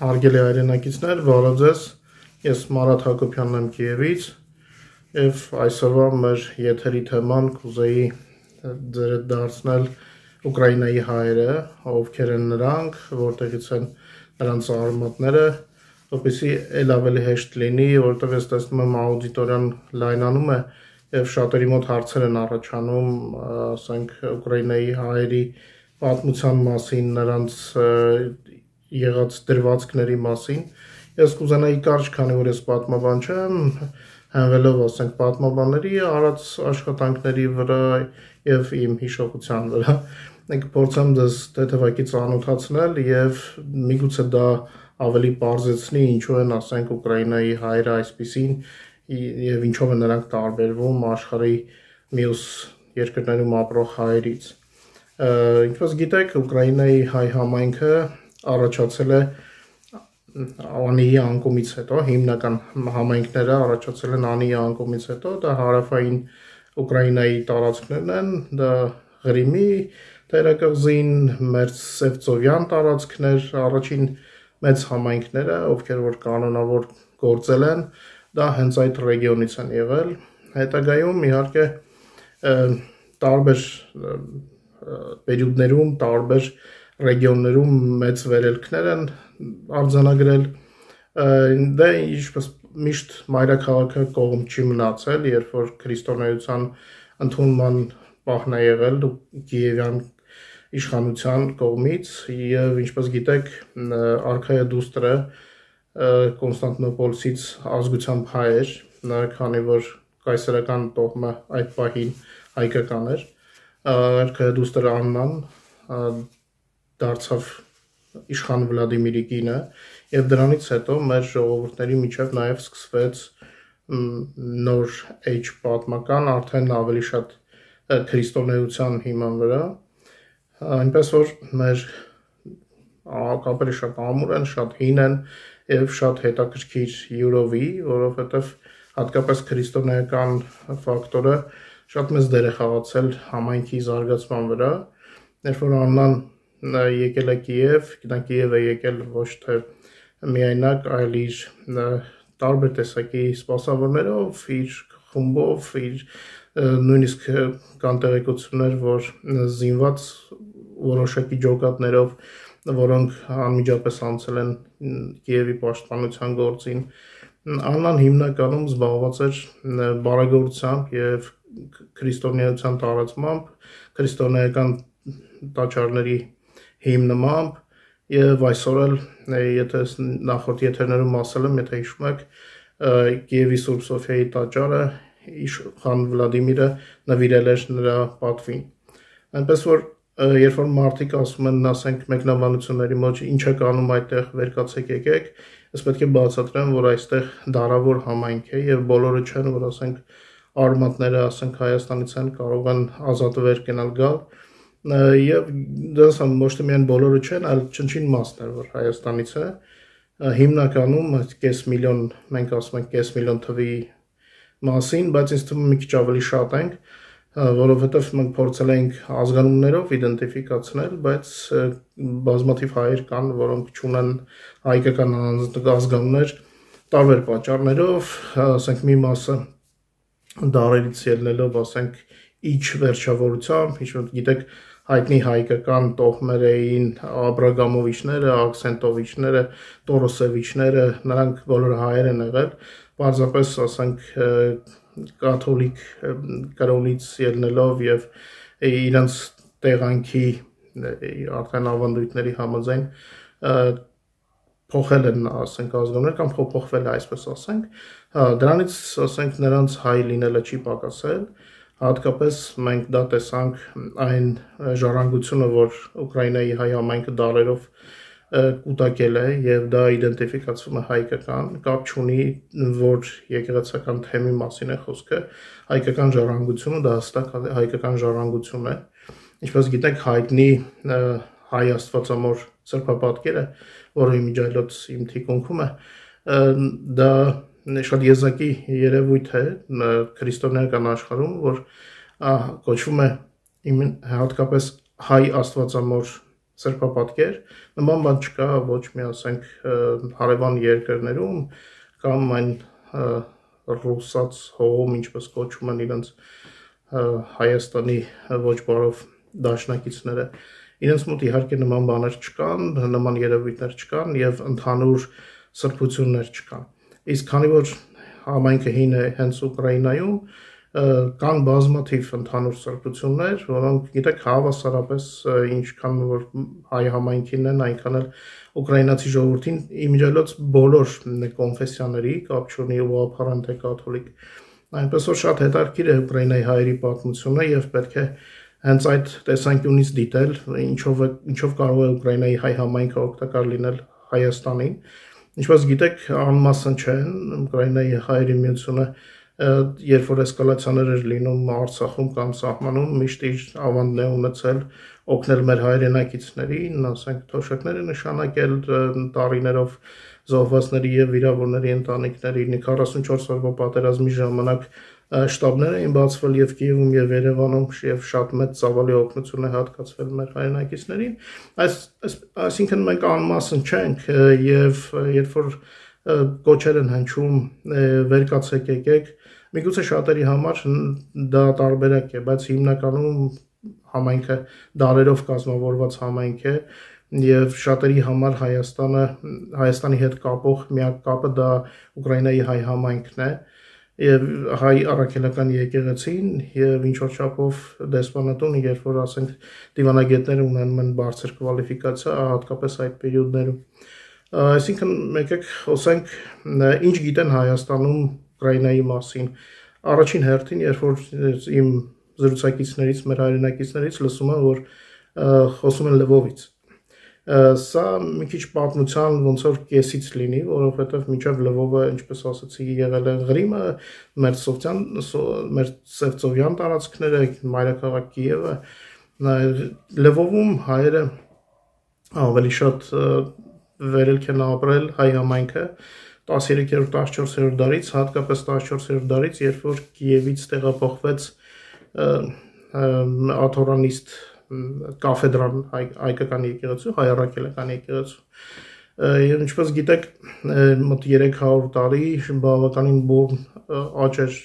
Հարգելի հայրենակիցներ, բարև ձեզ, ես Մարատ Հակոբյանն եմ Կիևից և այսօրվա մեր եթերի թեման կուզեի ձեր հետ դարձնել Ուկրաինայի հայերը, ովքեր են նրանք, որտեղից են նրանց արմատները, որպեսզի էլ ավելի հեշտ լինի, որովհետև ես տեսնում եմ աուդիտորիան լայնանում է և շատերի մոտ հարցեր են առաջանում, ասենք Ուկրաինայի հայերի պատմության մասին, նրանց եղած դրվածքների մասին, ես կուզենայի կարճ, քանի որ ես պատմաբան չեմ, հենվելով ասենք պատմաբանների արած աշխատանքների վրա և իմ հիշողության վրա, կփորձեմ ձեզ թեթևակի ծանոթացնել և միգուցե դա ավելի պարզեցնի ինչու են ասենք Ուկրաինայի հայերը այսպիսին և ինչով են նրանք տարբերվում աշխարհի մյուս երկրներում ապրող հայերից։ Ինչպես գիտեք, Ուկրաինայի հայ համայնքը առաջացել է Անիի անկումից հետո, հիմնական համայնքները առաջացել են Անիի անկումից հետո, դա հարավային Ուկրաինայի տարածքներն են, դա Ղրիմի թերակղզին, Մերձսևծովյան տարածքներ, առաջին մեծ համայնքները, ովքեր որ կանոնավոր գործել են, դա հենց այդ ռեգիոնից են եղել, հետագայում իհարկե տարբեր պերիոդներում, տարբեր ռեգիոններում մեծ վերելքներ են արձանագրել, դե ինչպես միշտ մայրաքաղաքը կողմ չի մնացել, երբ որ քրիստոնեության ընդունման պահն է եղել Կիևյան իշխանության կողմից և ինչպես գիտեք արքայա դուստրը Կոնստանտինոպոլսից ազգությամբ հայ էր, քանի որ կայսերական տոհմը այդ պահին հայկական էր, արքայա դուստր Աննան դարձավ իշխան Վլադիմիրի կինը և դրանից հետո մեր ժողովուրդների միջև նաև սկսվեց նոր էջ պատմական, արդեն ավելի շատ քրիստոնեության հիման վրա, այնպես որ մեր կապերը շատ ամուր են, շատ հին են և շատ հետաքրքիր յուրովի, որովհետև հատկապես քրիստոնեական ֆակտորը շատ մեծ դեր է խաղացել համայնքի զարգացման վրա, երբ որ Աննան եկել է Կիև, նա Կիև է եկել ոչ թե միայնակ, այլ իր տարբեր տեսակի սպասավորներով, իր խումբով, նույնիսկ կան տեղեկություններ, որ զինված որոշակի ջոկատներով, որոնք անմիջապես անցել են Կիևի պաշտպանության գործին, Աննան հիմնականում զբաղված էր բարեգործությամբ և քրիստոնեության տարածմամբ, քրիստոնեական տաճարների հիմնմամբ և այսօր էլ, եթե նախորդ եթերներում ասել եմ, եթե հիշում եք, Կիևի Սուրբ Սոֆիայի տաճարը իշխան Վլադիմիրը նվիրել էր նրա պատվին, այնպես որ երբ որ մարդիկ ասում են, ասենք մեկնաբանությունների մեջ ինչ եք անում այդտեղ, վեր կացեք եկեք, ես պետք է բացատրեմ, որ այստեղ դարավոր համայնք է և բոլորը չեն, որ ասենք արմատները, ասենք Հայաստանից են, կարող են ազատ վեր կենալ գալ և դրանց ոչ թե միայն բոլորը չեն, այլ չնչին մասն էր, որ Հայաստանից է, հիմնականում կես միլիոն, մենք ասում ենք կես միլիոն թվի մասին, բայց ինձ թվում է մի քիչ ավելի շատ ենք, որովհետև մենք փորձել ենք ազգանուններով իդենտիֆիկացնել, բայց բազմաթիվ հայեր կան, որոնք չունեն հայկական ազգանուններ տարբեր պատճառներով, ասենք մի մասը դարերից ելնելով, ասենք իջ վերջավորությամբ, ինչ-որ գիտեք հայտնի հայկական տոհմեր էին Աբրագամովիչները, Աքսենտովիչները, Տորոսևիչները, նրանք բոլորը հայեր են եղել, պարզապես ասենք կաթոլիկ կրոնից ելնելով և իրենց տեղանքի արդեն ավանդույթների համաձայն փոխել են ասենք ազգանուններ կամ փոխվել է այսպես ասենք, դրանից ասենք նրանց հայ լինելը չի պակասել, հատկապես մենք դա տեսանք այն ժառանգությունը, որ Ուկրաինայի հայ համայնքը դարերով կուտակել է և դա իդենտիֆիկացվում է հայկական, կապ չունի, որ եկեղեցական թեմի մասին է խոսքը, հայկական ժառանգությունը դա հստակ հայկական ժառանգություն է, ինչպես գիտեք հայտնի հայ աստվածամոր սրբապատկերը, որը իմիջիայլոց իմ թիկունքում է, դա շատ եզակի երևույթ է քրիստոնեական աշխարհում, որ կոչվում է հատկապես հայ աստվածամոր սրբապատկեր, նման բան չկա ոչ մի ասենք հարևան երկրներում կամ այն ռուսաց հողում, ինչպես կոչում են իրենց Հայաստանի ոչ բարով դաշնակիցները, իրենց մոտ իհարկե նման բաներ չկան, նման երևույթներ չկան եւ ընդհանուր սրբություններ չկան։ Իսկ քանի որ համայնքը հին է հենց Ուկրաինայում, կան բազմաթիվ ընդհանուր սրբություններ, որոնք գիտեք հավասարապես ինչքան որ հայ համայնքին են, այնքան էլ ուկրաինացի ժողովրդին իմիջիալոց բոլոր կոնֆեսիաների կապ չունի ուղղափառ թե կաթոլիկ։ Այնպես որ շատ հետաքրքիր է Ուկրաինայի հայերի պատմությունը եւ պետք է հենց այդ տեսանկյունից դիտել, ինչով կարող է Ուկրաինայի հայ համայնքը օգտակար լինել Հայաստանին։ Ինչպես գիտեք, անմասն չեն Ուկրաինայի հայերի միությունը, երբ որ էսկալացիաներ էր լինում Արցախում կամ սահմանում, միշտ իր ավանդն է ունեցել օգնել մեր հայրենակիցներին, ասենք թոշակները նշանակել տարիներով զոհվածների եւ վիրավորների ընտանիքներին 44 օրվա պատերազմի ժամանակ շտաբներ էին բացվել եւ Կիևում եւ Երևանում եւ շատ մեծ ծավալի օգնություն է հատկացվել մեր հայրենակիցներին։ Այսինքն մենք անմասն չենք եւ երբ որ կոչեր են հնչում վերկացեք եկեք, միգուցե շատերի համար դա տարբերակ է, բայց հիմնականում համայնքը դարերով կազմավորված համայնք է եւ շատերի համար Հայաստանի հետ կապող միակ կապը դա Ուկրաինայի հայ համայնքն է եւ հայ առաքելական եկեղեցին եւ ինչ որ չափով դեսպանատուն, երբ որ ասենք դիվանագետները ունենում են բարձր կվալիֆիկացիա, հատկապես այդ պերիոդներում։ Այսինքն եկեք խոսենք ինչ գիտեն Հայաստանում Ուկրաինայի մասին։ Առաջին հերթին, երբ որ իմ զրուցակիցներից, մեր հայրենակիցներից լսում եմ, որ խոսում են Լվովից։ Սա մի քիչ պատմության ոնց որ կեսից լինի, որովհետև մինչև Լվովը, ինչպես ասացի, եղել է Ղրիմը, մեր Սևծովյան տարածքները, մայրաքաղաք Կիևը, Լվովում հայերը ավելի շատ վերելք են ապրել հայ համայնքը 13-14-րդ դարից, հատկապես 14-րդ դարից, երբ որ Կիևից տեղափոխվեց աթորանիստ կաֆեդրան հայկական եկեղեցու, հայ առաքելական եկեղեցու։ Եվ ինչպես գիտեք, մոտ 300 տարի բավականին բուռն աճ էր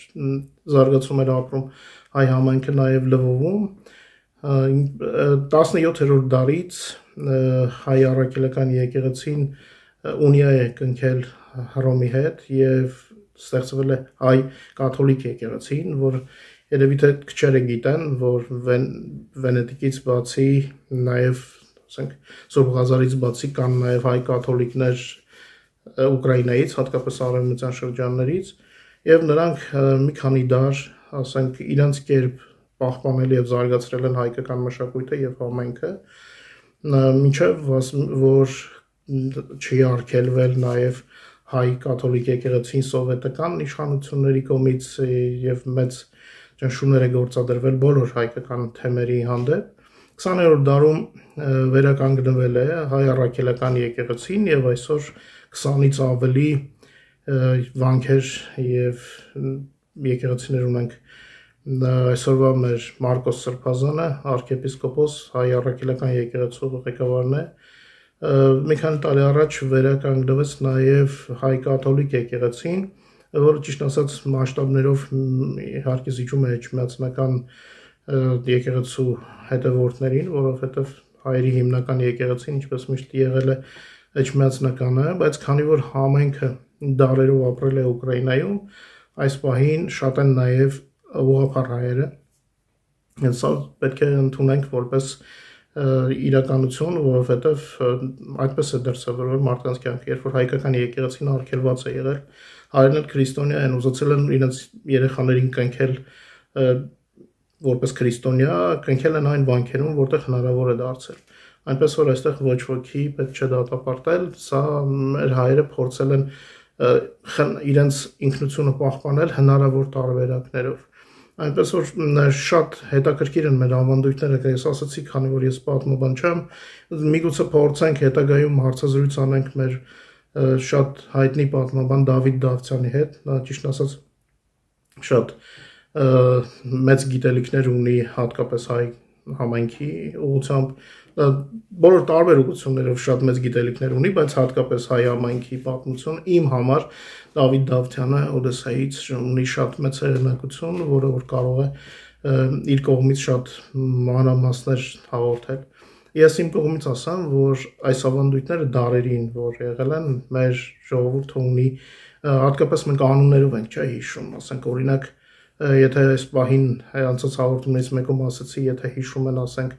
զարգացում էր ապրում հայ համայնքը նաև Լվովում։ 17-րդ դարից հայ առաքելական եկեղեցին ունիա է կնքել Հռոմի հետ եւ ստեղծվել է հայ կաթոլիկ եկեղեցին, որ երևի թե քչերը գիտեն, որ Վենետիկից բացի նաև, ասենք, Սուրբ Ղազարից բացի կան նաև հայ կաթոլիկներ Ուկրաինայից, հատկապես արևմտյան շրջաններից, եւ նրանք մի քանի դար, ասենք, իրենց կերպ պահպանել եւ զարգացրել են հայկական մշակույթը եւ համայնքը, մինչեւ որ չի արգելվել նաև հայ կաթոլիկ եկեղեցին սովետական իշխանությունների կողմից եւ մեծ ճնշումներ է գործադրվել բոլոր հայկական թեմերի հանդեպ։ 20-րդ դարում վերականգնվել է հայ առաքելական եկեղեցին եւ այսօր 20-ից ավելի վանքեր եւ եկեղեցիներ ունենք։ Այսօրվա մեր Մարկոս Սրբազանը, arczepiskopos հայ առաքելական եկեղեցու ղեկավարն է։ Մի քանի տարի առաջ վերականգնվեց նաև հայ կաթոլիկ եկեղեցին, որը ճիշտ ասած մասշտաբներով իհարկե զիջում է էջմիածնական եկեղեցու հետևորդներին, որովհետև հայերի հիմնական եկեղեցին, ինչպես միշտ եղել է էջմիածնականը, բայց քանի որ համայնքը դարերով ապրել է Ուկրաինայում, այս պահին շատ են նաև ուղղափառ հայերը։ Սա պետք է ընդունենք որպես իրականություն, որովհետև այդպես է դրսևորվել մարդկանց կյանքը, երբ որ հայկական եկեղեցին արգելված է եղել, հայերն էլ քրիստոնյա են, ուզեցել են իրենց երեխաներին կնքել որպես քրիստոնյա, կնքել են այն վանքերում, որտեղ հնարավոր է դարձել։ Այնպես որ այստեղ ոչ ոքի պետք չէ դատապարտել, սա մեր հայերը փորձել են իրենց ինքնությունը պահպանել հնարավոր տարբերակներով։ Այնպես որ շատ հետաքրքիր են մեր ավանդույթները, ես ասացի, քանի որ ես պատմաբան չեմ, միգուցե փորձենք հետագայում հարցազրույց անենք մեր շատ հայտնի պատմաբան Դավիթ Դավթյանի հետ, նա ճիշտ ասած շատ մեծ գիտելիքներ ունի հատկապես հայ համայնքի ուղղությամբ բոլոր տարբեր ուղղություններով շատ մեծ գիտելիքներ ունի, բայց հատկապես հայ համայնքի պատմություն իմ համար Դավիթ Դավթյանը Օդեսայից ունի շատ մեծ հեղինակություն, որը որ կարող է իր կողմից շատ մանրամասներ հաղորդել։ Ես իմ կողմից ասեմ, որ այս ավանդույթները դարերին, որ եղել են, մեր ժողովուրդը ունի, հատկապես մենք անուններով ենք, չէ, հիշում, ասենք օրինակ, եթե այս պահին անցած հաղորդումներից մեկում ասացի, եթե հիշում են, ասենք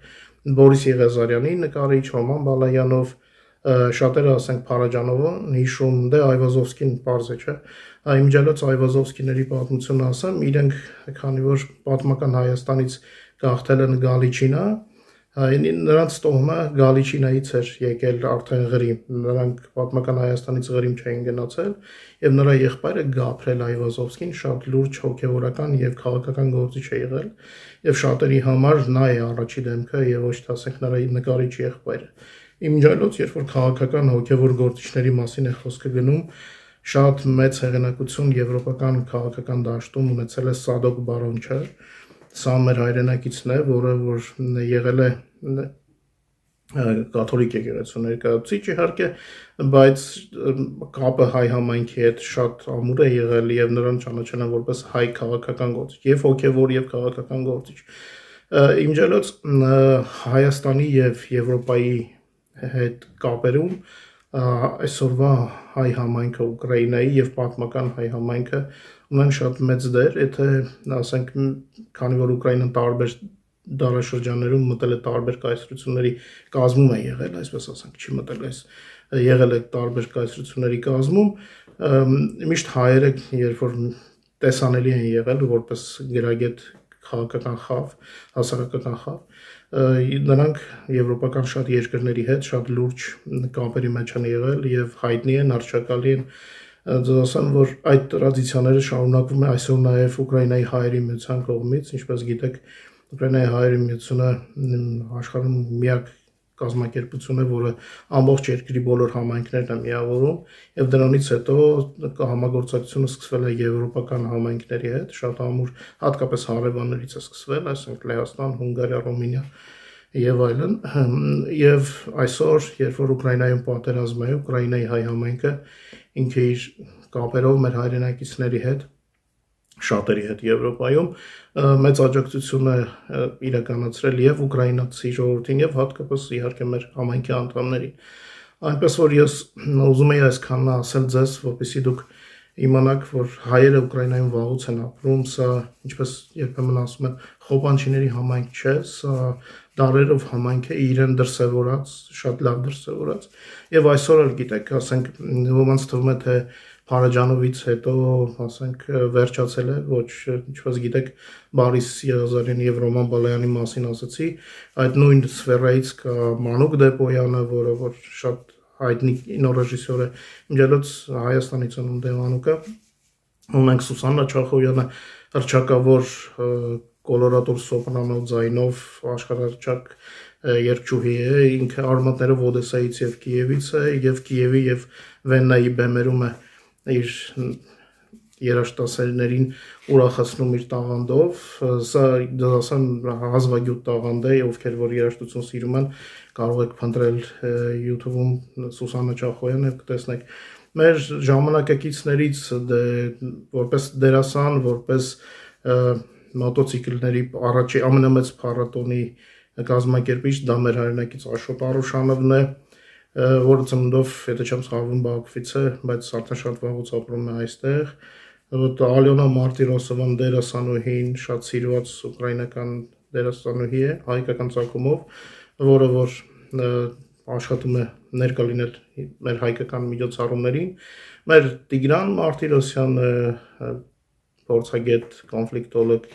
Բորիս Եղեզարյանի նկարիչ, Ռոման Բալայանով, շատերը ասենք Փարաջանովն հիշում, դե Այվազովսկին պարզ է, չէ։ Իմջալոց Այվազովսկիների պատմությունը ասեմ, իրենք քանի որ պատմական Հայաստանից գաղթել են Գալիչինա, նրանց տոհմը Գալիչինայից էր եկել արդեն Ղրիմ, նրանք պատմական Հայաստանից Ղրիմ չէին գնացել, եւ նրա եղբայրը Գաբրիել Այվազովսկին շատ լուրջ հոգեվորական եւ քաղաքական գործիչ է եղել, եւ շատերի համար նա է առաջի դեմքը եւ ոչ թե ասենք նրա նկարիչ եղբայրը։ Իմջալոց, երբ որ քաղաքական հոգեվոր գործիչների մասին է խոսքը գնում, շատ մեծ հեղինակություն եվրոպական քաղաքական դաշտում ունեցել է Սադոկ Բարոնչը, սա մեր հայրենակիցն է, որը որ եղել է կաթոլիկ եկեղեցու ներկայացուցիչ իհարկե, բայց կապը հայ համայնքի հետ շատ ամուր է եղել եւ նրան ճանաչել են որպես հայ քաղաքական գործիչ, եւ հոգեվոր եւ քաղաքական գործիչ։ Իմջալոց Հայաստանի եւ Եվրոպայի հետ կապերում այսօրվա հայ համայնքը Ուկրաինայի եւ պատմական հայ համայնքը ունեն շատ մեծ դեր, եթե ասենք քանի որ Ուկրաինան տարբեր դարաշրջաններում մտել է տարբեր կայսրությունների կազմում է եղել, այսպես ասենք, չի մտել այս եղել է տարբեր կայսրությունների կազմում, միշտ հայերը երբ որ տեսանելի են եղել որպես գրագետ քաղաքական խավ, հասարակական խավ, նրանք եվրոպական շատ երկրների հետ շատ լուրջ կապերի մեջ են եղել եւ հայտնի են, արժեքալի են, ձեզ ասեմ, որ այդ տրադիցիաները շարունակվում է այսօր նաեւ Ուկրաինայի հայերի միության կողմից, ինչպես գիտեք, Ուկրաինայի հայերի միությունը աշխարհում միակ կազմակերպություն է, որը ամբողջ երկրի բոլոր համայնքներն է միավորում, եւ դրանից հետո համագործակցությունը սկսվել է եվրոպական համայնքների հետ, շատ ամուր, հատկապես հարևաններից է սկսվել, այսինքն Լեհաստան, Հունգարիա, Ռումինիա եւ այլն, եւ այսօր, երբ որ Ուկրաինայում պատերազմ է, Ուկրաինայի հայ համայնքը ինքը իր կապերով մեր հայրենակիցների հետ շատերի հետ Եվրոպայում մեծ աջակցություն է իրականացրել եւ ուկրաինացի ժողովրդին եւ հատկապես իհարկե մեր համայնքի անդամներին։ Այնպես որ ես ուզում եի այսքանն ասել ձեզ, որպեսզի դուք իմանաք, որ հայերը Ուկրաինայում վաղուց են ապրում, սա ինչպես երբեմն ասում են, խոպանչիների համայնք չէ, սա դարերով համայնք է, իրեն դրսևորած, շատ լավ դրսևորած եւ այսօր էլ գիտեք, ասենք ոմանց թվում է թե Փարաջանովից հետո, ասենք, վերջացել է, ոչ, ինչպես գիտեք, Բորիս Եղեզարյանի եւ Ռոման Բալայանի մասին ասացի, այդ նույն սֆերայից կա Մանուկ Դեպոյանը, որը որ շատ հայտնի կինոռեժիսոր է, իմջալոց Հայաստանից ընդ Մանուկը, ունենք Սուսաննա Չախոյանը, հռչակավոր կոլորատոր սոպրանո ձայնով աշխարհահռչակ երգչուհի է, ինքը արմատներով Օդեսայից եւ Կիևից է, եւ Կիևի եւ Վեննայի բեմերում է իր երաժշտասերներին ուրախացնում իր տաղանդով, սա դասան հազվագյուտ տաղանդ է, ովքեր որ երաժշտություն սիրում են, կարող եք փնտրել YouTube-ում Սուսաննա Չախոյան եւ կտեսնեք մեր ժամանակակիցներից որպես դերասան, որպես մոտոցիկլների առաջի ամենամեծ փառատոնի կազմակերպիչ դա մեր հայրենակից Աշոտ Արուշանովն է, որը ծննդով, եթե չեմ սխալվում, Բաքվից է, բայց արդեն շատ վաղուց ապրում է այստեղ։ Ալյոնա Մարտիրոսովան դերասանուհին, շատ սիրված ուկրաինական դերասանուհի է, հայկական ծագումով, որը որ աշխատում է ներկա լինել մեր հայկական միջոցառումներին։ Մեր Տիգրան Մարտիրոսյանը փորձագետ, կոնֆլիկտոլոգ,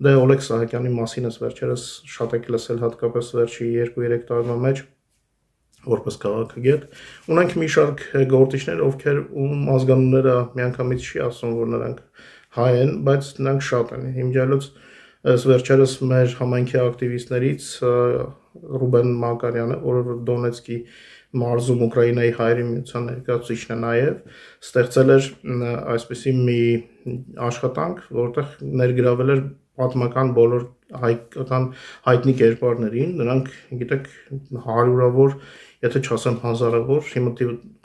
դե Օլեգ Սահակյանի մասին ես վերջերս շատ եք լսել, հատկապես վերջի 2-3 տարվա մեջ որպես քաղաքագետ, ունենք մի շարք գործիչներ, ովքեր ում ազգանունները միանգամից չի ասում, որ նրանք հայ են, բայց նրանք շատ են։ Իմջալոց վերջերս մեր համայնքի ակտիվիստներից Ռուբեն Մակարյանը, որը Դոնեցկի մարզում Ուկրաինայի հայերի միության ներկայացուցիչն է նաև, ստեղծել էր այսպիսի մի աշխատանք, որտեղ ներգրավել էր պատմական բոլոր հայկական հայտնի կերպարներին, նրանք գիտեք հարյուրավոր, եթե չասեմ հազարավոր, հիմա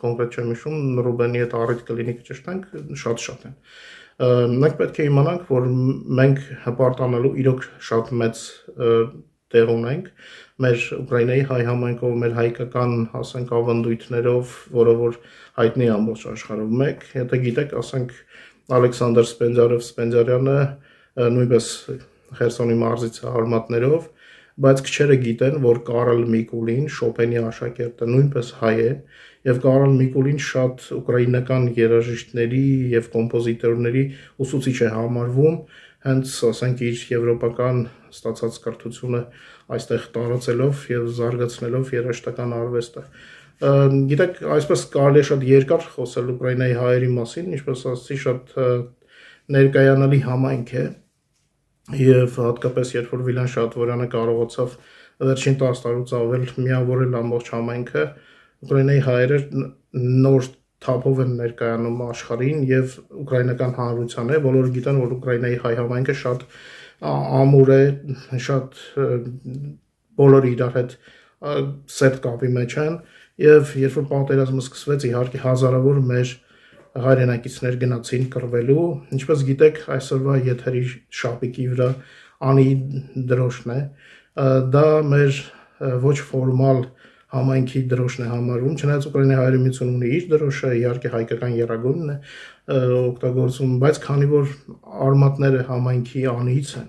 կոնկրետ չեմ հիշում, Ռուբենի հետ առիթ կլինի կճշտենք, շատ են։ Մենք պետք է իմանանք, որ մենք հպարտանալու իրոք շատ մեծ տեղ ունենք մեր Ուկրաինայի հայ համայնքով, մեր հայկական ասենք ավանդույթներով, որը որ հայտնի ամբողջ աշխարհում։ Մեկ, եթե գիտեք, ասենք Ալեքսանդր Սպենդիարյանը նույնպես Խերսոնի մարզից արմատներով, բայց քչերը գիտեն, որ Կարլ Միկուլին, Շոպենի աշակերտը, նույնպես հայ է, եւ Կարլ Միկուլին շատ ուկրաինական երաժիշտների եւ կոմպոզիտորների ուսուցիչ է համարվում, հենց ասենք իր եվրոպական ստացած կրթությունը այստեղ տարածելով եւ զարգացնելով երաժշտական արվեստը։ Գիտեք, այսպես կարելի է շատ երկար խոսել Ուկրաինայի հայերի մասին, ինչպես ասացի, շատ ներկայանալի համայնք է եւ հատկապես երբ որ Վիլան Շատվորյանը կարողացավ վերջին 10 տարուց ավել միավորել ամբողջ համայնքը, Ուկրաինայի հայերը նոր թափով են ներկայանում աշխարհին եւ ուկրաինական հանրությանը, բոլորը գիտեն, որ Ուկրաինայի հայ համայնքը շատ ամուր է, շատ բոլորը իրար հետ սերտ կապի մեջ են եւ երբ որ պատերազմը սկսվեց, իհարկե հազարավոր մեր հայրենակիցներ գնացին կռվելու, ինչպես գիտեք, այսօրվա եթերի շապիկի վրա անի դրոշն է, դա մեր ոչ ֆորմալ համայնքի դրոշն է համարվում, չնայած Ուկրաինայի հայերի միությունը ունի իր դրոշը, իհարկե հայկական եռագույնն է օգտագործում, բայց քանի որ արմատները համայնքի անիից են,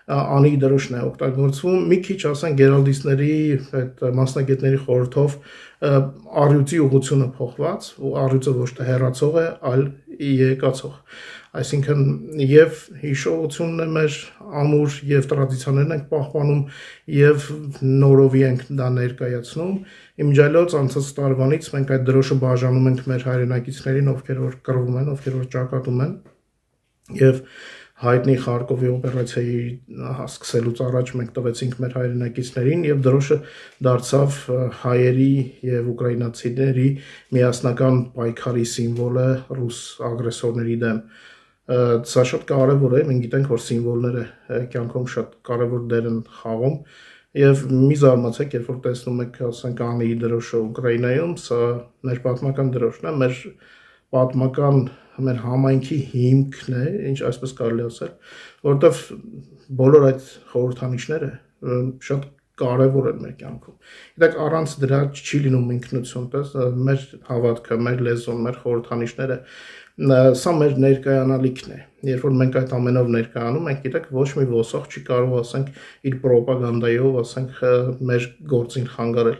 անի դրոշն է օգտագործվում, մի քիչ ասենք գերալդիստների այդ մասնագետների խորհրդով առյուծի ուղղությունը փոխված, ու առյուծը ոչ թե հեռացող է, այլ եկածող, այսինքն եւ հիշողությունն է մեր ամուր եւ տրադիցիաներն ենք պահպանում եւ նորովի ենք դա ներկայացնում, իմջայլոց անցած տարվանից մենք այդ դրոշը բաժանում ենք մեր հայրենակիցներին, ովքեր որ կռվում են, ովքեր որ ճակատում են եւ հայտնի Խարկովի օպերացիայի սկսելուց առաջ մենք տվեցինք մեր հայրենակիցներին եւ դրոշը դարձավ հայերի եւ ուկրաինացիների միասնական պայքարի սիմվոլը ռուս ագրեսորների դեմ։ Սա շատ կարեւոր է, մենք գիտենք, որ սիմվոլները կյանքում շատ կարեւոր դեր են խաղում եւ մի զարմացեք, երբ որ տեսնում եք, ասենք, անի դրոշը Ուկրաինայում, սա մեր պատմական դրոշն է, մեր պատմական մեր համայնքի հիմքն է, ինչ այսպես կարելի ասել, որովհետև բոլոր այդ խորհրդանիշները շատ կարևոր են մեր կյանքում։ Գիտեք, առանց դրա չի լինում ինքնություն, մեր հավատքը, մեր լեզուն, մեր խորհրդանիշները, սա մեր ներկայանալիքն է։ Երբ որ մենք այդ ամենով ներկայանում ենք, գիտեք, ոչ մի ոսող չի կարող, ասենք, իր պրոպագանդայով, ասենք, մեր գործին խանգարել։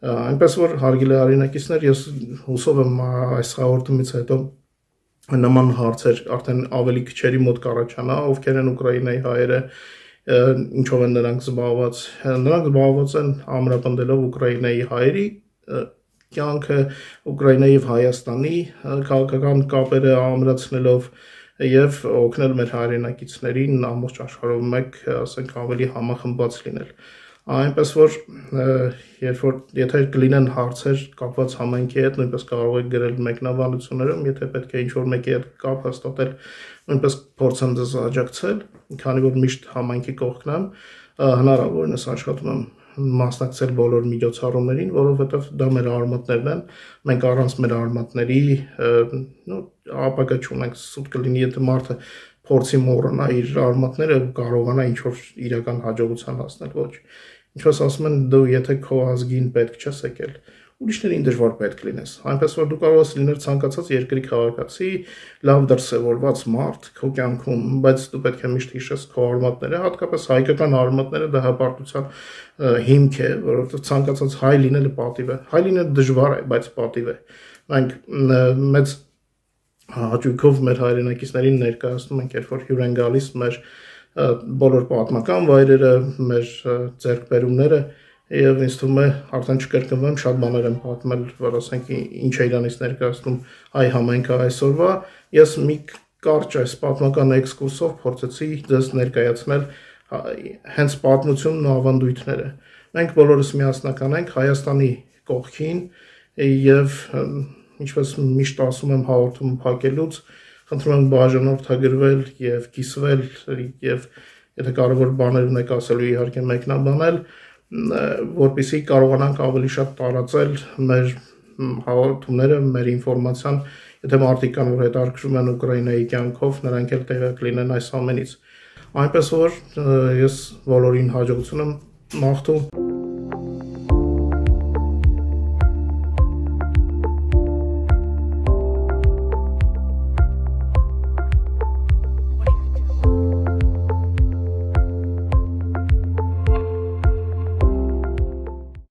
Այնպես որ հարգելի հայրենակիցներ, ես հուսով եմ այս հաղորդումից հետո նման հարցեր արդեն ավելի քչերի մոտ կառաջանա, ովքեր են Ուկրաինայի հայերը, ինչով են նրանք զբաղված են ամրապնդելով Ուկրաինայի հայերի կյանքը, Ուկրաինայի եւ Հայաստանի քաղաքական կապերը ամրացնելով եւ օգնել մեր հայրենակիցներին ամբողջ աշխարհով մեկ, ասենք, ավելի համախմբված լինել։ Այնպես որ եթե կլինեն հարցեր կապված համայնքի հետ, նույնպես կարող եք գրել մեկնաբանություններում, եթե պետք է ինչ-որ մեկի հետ կապ հաստատել, նույնպես փորձեմ ձեզ աջակցել, քանի որ միշտ համայնքի կողքն եմ, հնարավորինս աշխատում եմ մասնակցել բոլոր միջոցառումներին, որովհետև դա մեր արմատներն են, մենք առանց մեր արմատների ապագա չունենք, սուտ կլինի, եթե մարդը փորձի մոռանա իր արմատները ու կարողանա ինչ-որ իրական հաջողության հասնել, ոչ։ Ինչպես ասում են, դու եթե քո ազգին պետք չես եկել, ուրիշներին դժվար պետք լինես, այնպես որ դու կարող ես լինել ցանկացած երկրի քաղաքացի, լավ դրսևորված մարդ քո կյանքում, բայց դու պետք է միշտ հիշես քո արմատները, հատկապես հայկական արմատները, դա հպարտության հիմք է, որովհետև ցանկացած հայ լինելը պատիվ է, հայ լինելը դժվար է, բայց պատիվ է։ Մենք մեծ հաճույքով մեր հայրենակիցներին ներկայացնում ենք, երբ որ հյուր են գալիս մեր բոլոր պատմական վայրերը, մեր ձեռքբերումները եւ ինձ թվում է արդեն չկրկնվեմ, շատ բաներ եմ պատմել, որ ասենք ինչ է իրանից ներկայացնում հայ համայնքը այսօրվա, ես մի կարճ այս պատմական էքսկուրսով փորձեցի ձեզ ներկայացնել հենց պատմությունն ու ավանդույթները։ Մենք բոլորս միասնական ենք Հայաստանի կողքին եւ ինչպես միշտ ասում եմ հաղորդում փակելուց, խնդրում եմ բաժանորդագրվել եւ կիսվել եւ եթե կարևոր բաներ ունեք ասելու իհարկե մեկնաբանել, որպեսզի կարողանանք ավելի շատ տարածել մեր հաղորդումները, մեր ինֆորմացիան, եթե մարդիկ կան, որ հետաքրքրում են Ուկրաինայի կյանքով, նրանք էլ տեղյակ լինեն այս ամենից։ Այնպես որ ես բոլորին հաջողություն եմ մաղթում։